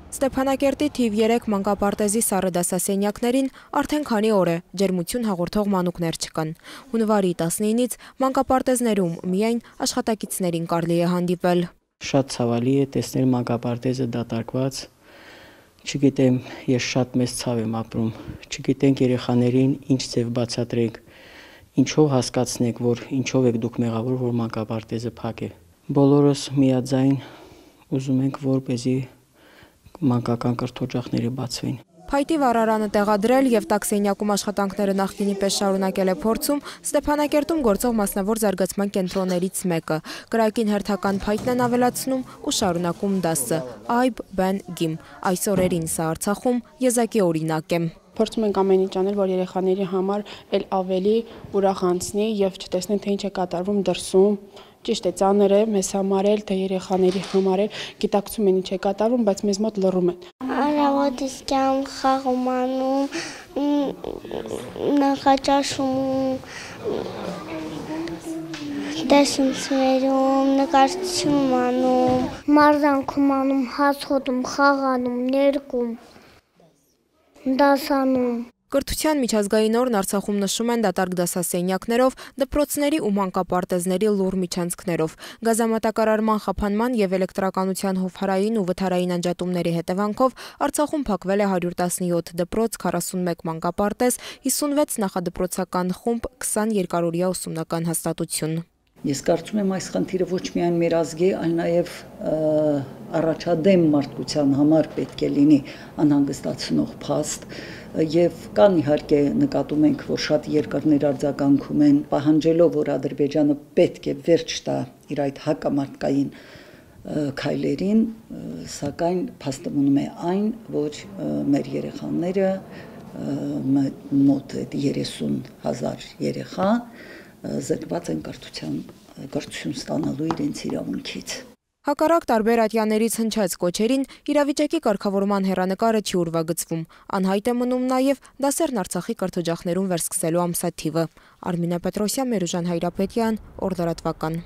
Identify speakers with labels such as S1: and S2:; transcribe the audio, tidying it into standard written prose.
S1: Ստեփանակերտի թիվ 3 մանկապարտեզի սառը դասասենյակներին արդեն քանի օր է ջերմություն հաղորդող մանուկներ չկան։ Հունվարի 19-ից մանկապարտեզներում միայն աշխատակիցներին կարելի է հանդիպել։
S2: Շատ ցավալի է տեսնել մանկապարտեզը դատարկված։ Չգիտեմ, ես շատ մեծ ցավ եմ ապրում։ Չգիտենք երեխաներին ինչ ձև բացատրենք, ինչով հասկացնենք, որ ինչով եք դուք մեղավոր, որ մանկապարտեզը փակ է։ Բոլորս միաձայն ուզում ենք, որպեսզի մանկական կրթօջախները բացվեն։
S1: Փայտի վառարանը տեղադրել եւ տաքսենյակում աշխատանքները նախկինի պես շարունակել է փորձում Ստեփանակերտում գործող մասնավոր զարգացման կենտրոններից մեկը։ Կրակին հերթական փայտն են ավելացնում ու շարունակում դասը։ Այբ, բեն, գիմ։ Այս օրերին սա Արցախում եզակի օրինակ է։
S3: Փորձում ենք ամեն ինչ անել, որ երեխաների համար էլ ավելի ուրախ անցնի եւ չտեսնեն, թե ինչ է կատարվում դրսում։ Ճիշտ է, ծանր է մեզ համար էլ, թե երեխաների համար էլ, գիտակցում են ինչ է կատարվում, բայց մեզ մոտ լռում են։
S4: Արավոտիսկյան խաղում անում, նախաճաշում, դասընթացներում, նկարչություն անում, մարզանքում անում, հաց հոտում, խաղանում, ներկում, դասանում։
S1: Կրթության միջազգային օրն Արցախում նշում են դատարկ դասասենյակներով, դպրոցների ու մանկապարտեզների լուռ միջանցքներով։ Գազամատակարարման խափանման եւ էլեկտրականության հովհարային ու վթարային անջատումների հետևանքով Արցախում փակվել է 117 դպրոց, 41 մանկապարտեզ, 56 նախադպրոցական խումբ, 20 երկարօրյա ուսումնական հաստատություն։
S5: Ես կարծում եմ այս խնդիրը ոչ միայն մեր ազգի, այլ նաև առաջադեմ մարդկության համար պետք է լինի անհանգստացնող փաստ եւ կան իհարկե նկատում ենք, որ շատ երկրներ արձագանքում են, պահանջելով, որ Ադրբեջանը պետք է վերջ տա իր այդ հակամարտկային քայլերին, սակայն փաստը մնում է այն, որ մեր երեխաները մոտ 30,000 երեխա զրկված են կրթություն ստանալու իրենց իրավունքից։
S1: Հակառակ տարբեր ատյաներից հնչած կոչերին իրավիճակի կարգավորման հեռանկարը չի ուրվագծվում։ Անհայտ է մնում նաև դասերն Արցախի կրթօջախներում վերսկսելու ամսաթիվը։ Արմինե Պետրոսյան, Մերուժան Հայրապետյան, Օրդարատվական։